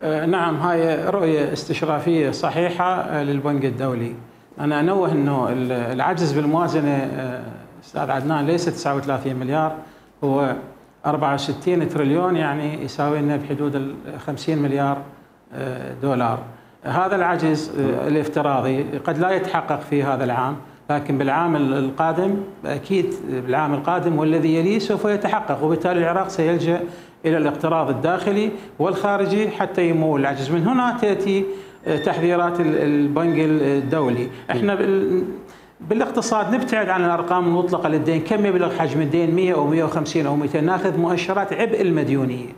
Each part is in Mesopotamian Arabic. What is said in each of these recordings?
نعم، هاي رؤية استشرافية صحيحة للبنك الدولي. أنا أنوه أنه العجز بالموازنة أستاذ عدنان ليس 39 مليار، هو 64 تريليون، يعني يساوي لنا بحدود 50 مليار دولار. هذا العجز الافتراضي قد لا يتحقق في هذا العام، لكن بالعام القادم أكيد، بالعام القادم والذي يليه سوف يتحقق، وبالتالي العراق سيلجأ إلى الاقتراض الداخلي والخارجي حتى يمول العجز. من هنا تأتي تحذيرات البنك الدولي. احنا بالاقتصاد نبتعد عن الأرقام المطلقة للدين، كم يبلغ حجم الدين 100 أو 150 أو 200، ناخذ مؤشرات عبء المديونية.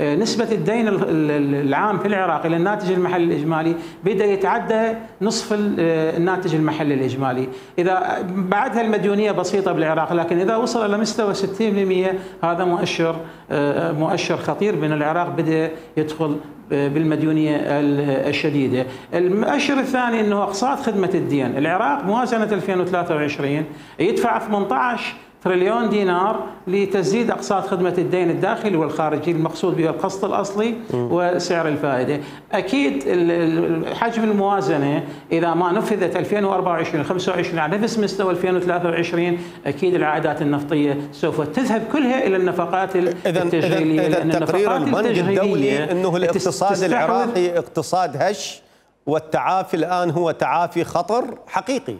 نسبة الدين العام في العراق إلى الناتج المحلي الإجمالي بدأ يتعدى نصف الناتج المحلي الإجمالي. إذا بعدها المديونية بسيطة بالعراق، لكن إذا وصل إلى مستوى 60% هذا مؤشر خطير بأن العراق بدأ يدخل بالمديونية الشديدة. المؤشر الثاني أنه أقساط خدمة الدين. العراق موازنة 2023 يدفع 18 تريليون دينار لتسديد أقساط خدمة الدين الداخلي والخارجي، المقصود به القسط الأصلي وسعر الفائدة. أكيد حجم الموازنة إذا ما نفذت 2024 25 على نفس مستوى 2023، أكيد العائدات النفطية سوف تذهب كلها إلى النفقات التشغيلية. إذا تقرير البنك الدولي أنه الاقتصاد العراقي اقتصاد هش، والتعافي الآن هو تعافي خطر حقيقي.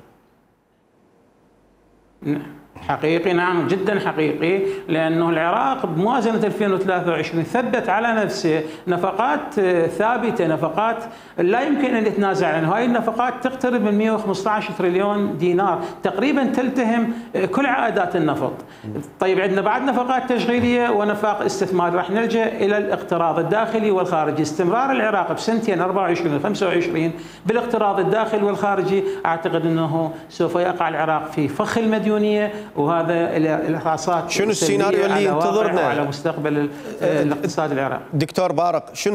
حقيقي، نعم، جدا حقيقي، لأنه العراق بموازنة 2023 ثبت على نفسه نفقات ثابتة، نفقات لا يمكن أن يتنازع عنها. هاي النفقات تقترب من 115 تريليون دينار، تقريبا تلتهم كل عائدات النفط. طيب عندنا بعد نفقات تشغيلية ونفاق استثمار، راح نلجأ إلى الاقتراض الداخلي والخارجي. استمرار العراق بسنتين 24 و 25 بالاقتراض الداخلي والخارجي، أعتقد أنه سوف يقع العراق في فخ المديونية، وهذا الإحصاءات شنو السيناريو اللي ينتظرنا على مستقبل الاقتصاد العراقي؟ دكتور بارق، شنو